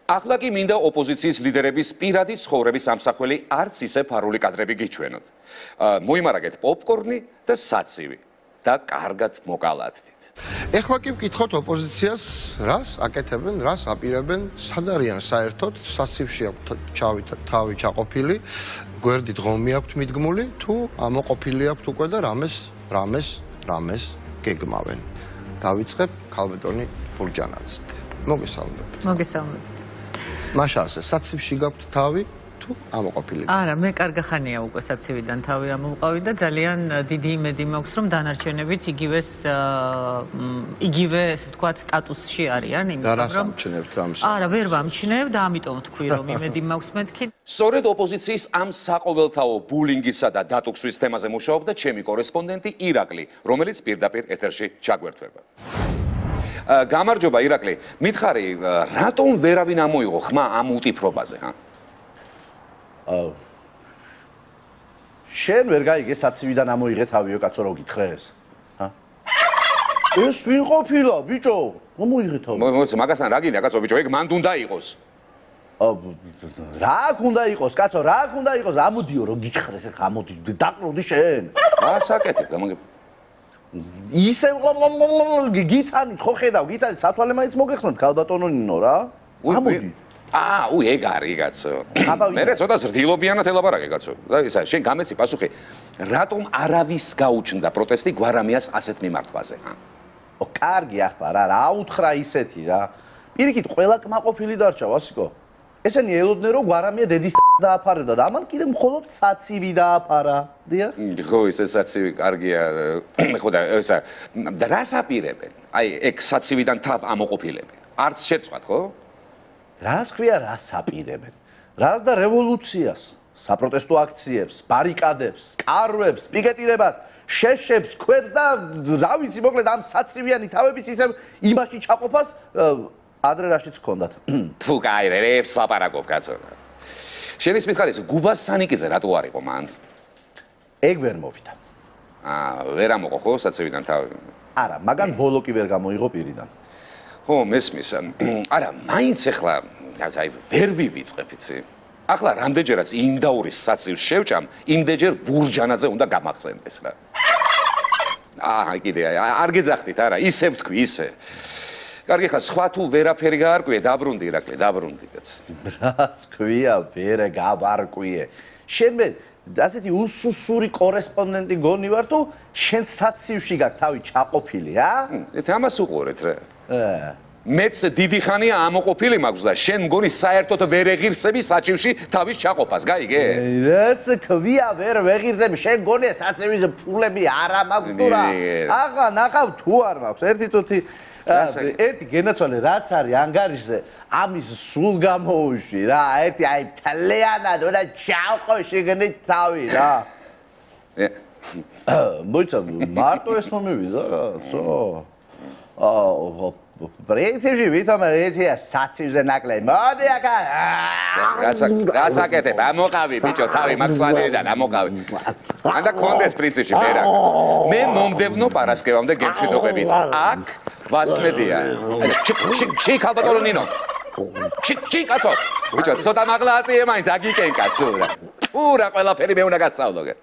ახლა კი მინდა ოპოზიციის ლიდერების პირადი ცხოვრების ამსახველი არც ისე ფარული კადრები გიჩვენოთ. მოიმარაგეთ პოპკორნი და საცივი და კარგად მოკალათდით. ეხლა კი ვკითხოთ ოპოზიციას, რას აკეთებენ, რას აპირებენ, სად არიან საერთოდ, საცივში აქვთ თავი ჩაყოფილი, გვერდით ღომი აქვთ მიდგმული, თუ ამოყოფილი აქვთ უკვე და რამეს გეგმავენ. დავიწყებ ქალბატონი ბურჯანაძით. მოგესალმებით. მოგესალმებით. მაშა ასე, საცივში გაქვთ თავი, თუ ამოყოფილი? არა, მე კარგი ხანია უკვე საცივიდან თავი ამოვყავი და ძალიან დიდი იმედი მაქვს, რომ დანარჩენებიც იგივე, ესე ვთქვათ, სტატუსში არიან, იმიტომ რომ ამჩნევთ ამას. არა, ვერ ვამჩნევ და ამიტომ ვთქვი, რომ იმედი მაქვს მეთქი. სწორედ ოპოზიციის ამ საყოველთაო ბულინგისა და დატოქსვის თემაზე მუშაობდა ჩემი კორესპონდენტი ირაკლი, რომელიც პირდაპირ ეთერში ჩაგვერთვება. გამარჯობა ირაკლი, მითხარი, რატომ ვერავინ ამოიღო ხმა ამ უტიფრობაზე, ჰა? შენ ვერ გაიგე საცივიდან ამოიღე თავიო კაცო რო გითხრეს? ჰა? ეს ვინ ყოფილა, ბიჭო? ამოიღე თავი. მაგასთან რა გინდა კაცო, ბიჭო, ეგ მანდ უნდა იყოს. რა უნდა იყოს, კაცო, რა უნდა იყოს? ამოდიო რო გითხრეს, ხა ამოდი, დაყროდი შენ. რა საკეთებ, გამოგებ. ისე გიცანით, ხო ხედავ, გიცანით, სათვალე მაინც მოგეხსნათ ქალბატონინო რა? ამოდი. ეგ არის კაცო. მე ცოტა ზრდილობიანად ელაპარაკე კაცო. და ისა შენ გამეცი პასუხი, რატომ არავის გაუჩნდა პროტესტი გვარამიას ასეთ მიმართვაზე, ჰა? კარგი ახლა რა უთხრა ისეთი რა. პირიქით ყველა კმაყოფილი დარჩა, ვასიკო. ესენი ელოდნენ რომ გვარამია დედის დააფარებდა და ამან კიდე მხოლოდ საცივი დააფარა. დიახ? ხო, ეს საცივი კარგია. ხო და ესა რას აპირებენ? აი, ეგ საცივიდან თავ ამოყოფილები. არც შეწყვათ, ხო? რას ქვია, რას აპირებენ? რას და რევოლუციას, საპროტესტო აქციებს, ბარიკადებს, კარვებს, პიკეტირებას, შეშებს, ქვებს და რა ვიცი, მოკლედ ამ საცივიანი თავების ისევ იმაში ჩაყოფას ადრე რაშიც ჰქონდათ. თუ კაი, რებს ლაპარაკობ კაცო. შენის მითხარით, გუბას სანიკიძე რატო არ იყო მანდ? ეგ ვერ მოვიდა. ვერ ამოყო ხო საცივიდან თავი? არა, მაგან ბოლო კი ვერ გამოიღო პირიდან. ხო, მესმის. არა, მაინც ახლა, აი, ვერ ვივიწყებ, იცი? ახლა რამდენჯერაც იმდაურის საცივს შევჭამ, იმდენჯერ ბურჯანაძე უნდა გამახსენდეს რა. კიდე არ გეძახდით, არა, ისე ვთქვი, ისე. კარგი ხა, სხვა თუ ვერაფერი გაარკვიე, დაბრუნდი ირაკლი, დაბრუნდი კაც. რას ქვია, ვერ გავარკვიე. შენ მე ასეთი უსუსური კორესპონდენტი გონი ვარ თუ შენ საცივში გაქვს თავი ჩაყოფილი, ა? ამას უყურეთ რა. მეც დიდი ხანია ამოყოფილი მაქვს და შენ მგონი საერთოდ ვერ ეღირსები საცივში თავის ჩაყოფას, გაიგე? რას ქვია, ვერ ვეღირსები, შენ გონია საცივის ფულები არა მაქვს თუ რა? ახლა ნახავ თუ არ მაქვს, ერთი წუთი ერთი გენაცვალე რაც არის ანგარიშზე, ამის სულ გამოუშვი რა, ერთი აი თლიანად უნდა ჩავყო შეგნით თავი რა. მოიცა, მარტო ეს მომივიდა რაცო? პრინციპში ვითომ ერთია საცივზე ნაკლები. მოდი აქა. გასაკეთებ, ამოყავი ბიჭო, თავი მაგცვალიდან ამოყავი. ანდა კონდეს პრინციპში მე რა. მე მომდევნო პარასკევამდე გემშვიდობებით. აქ ვასმედია. ჩი ქალბატონინო. ჩი კაცო. ბიჭო, ცოტა მაღლა აწიე მაინც აგიკენკა სულ რა. ურა ყველაფერი მე უნდა გასწავლო.